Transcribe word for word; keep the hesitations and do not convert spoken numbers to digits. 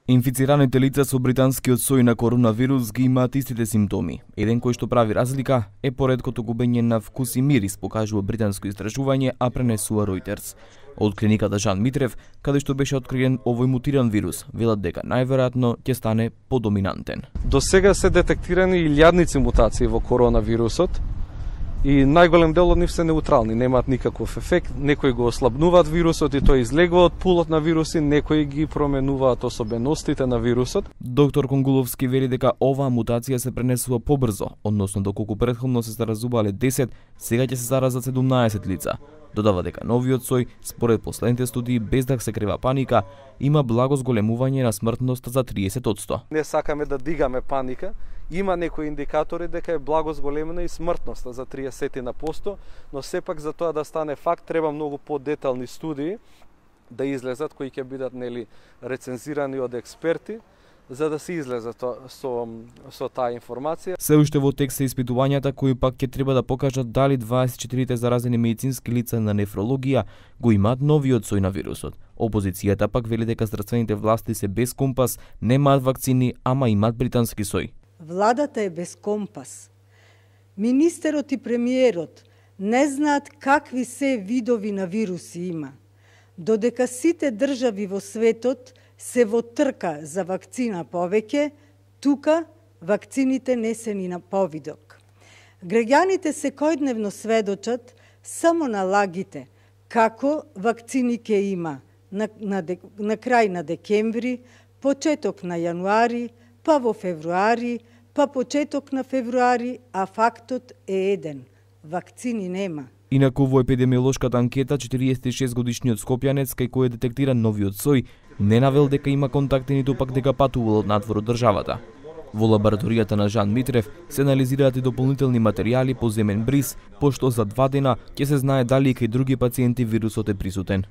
Инфицираните лица со британскиот сој на коронавирус ги имаат истите симптоми. Еден кој што прави разлика е поредкото губење на вкус и мирис, покажува британско истражување, а пренесува Reuters. Од клиниката Жан Митрев, каде што беше откриен овој мутиран вирус, велат дека најверојатно ќе стане подоминантен. До сега се детектирани илјадници мутации во коронавирусот и најголем дел од нив се неутрални, немаат никаков ефект. Некои го ослабнуваат вирусот и тој излегува од пулот на вируси, некои ги променуваат особеностите на вирусот. Доктор Конгуловски вели дека оваа мутација се пренесува побрзо, односно доколку претходно се заразувале десет, сега ќе се заразат седумнаесет лица. Додава дека новиот сој, според последните студии, без да се крива паника, има благо зголемување на смртноста за триесет одсто. Не сакаме да дигаме паника, има некои индикатори дека е благо зголемена и смртноста за триесет на посто, но сепак за тоа да стане факт треба многу подетални студии да излезат кои ќе бидат нели рецензирани од експерти, за да се излезе со, со таа информација. Се уште во тек се испитувањата кои пак ќе треба да покажат дали дваесет и четири заразени медицински лица на нефрологија го имаат новиот сој на вирусот. Опозицијата пак вели дека здравствените власти се без компас, немаат вакцини, ама имаат британски сој. Владата е без компас. Министерот и премиерот не знаат какви се видови на вируси има. Додека сите држави во светот се во трка за вакцина повеќе, тука вакцините не се ни на повидок. Граѓаните секојдневно сведочат само на лагите како вакцини ќе има на, на, на крај на декември, почеток на јануари, па во февруари, па почеток на февруари, а фактот е еден – вакцини нема. Инаку во епидемиолошката анкета, четириесет и шест годишниот скопјанец кај кој е детектиран новиот сој, не навел дека има контакти ниту пак дека патувал од надвор од државата. Во лабораторијата на Жан Митрев се анализираат и дополнителни материјали по земен бриз, пошто за два дена ќе се знае дали и кај други пациенти вирусот е присутен.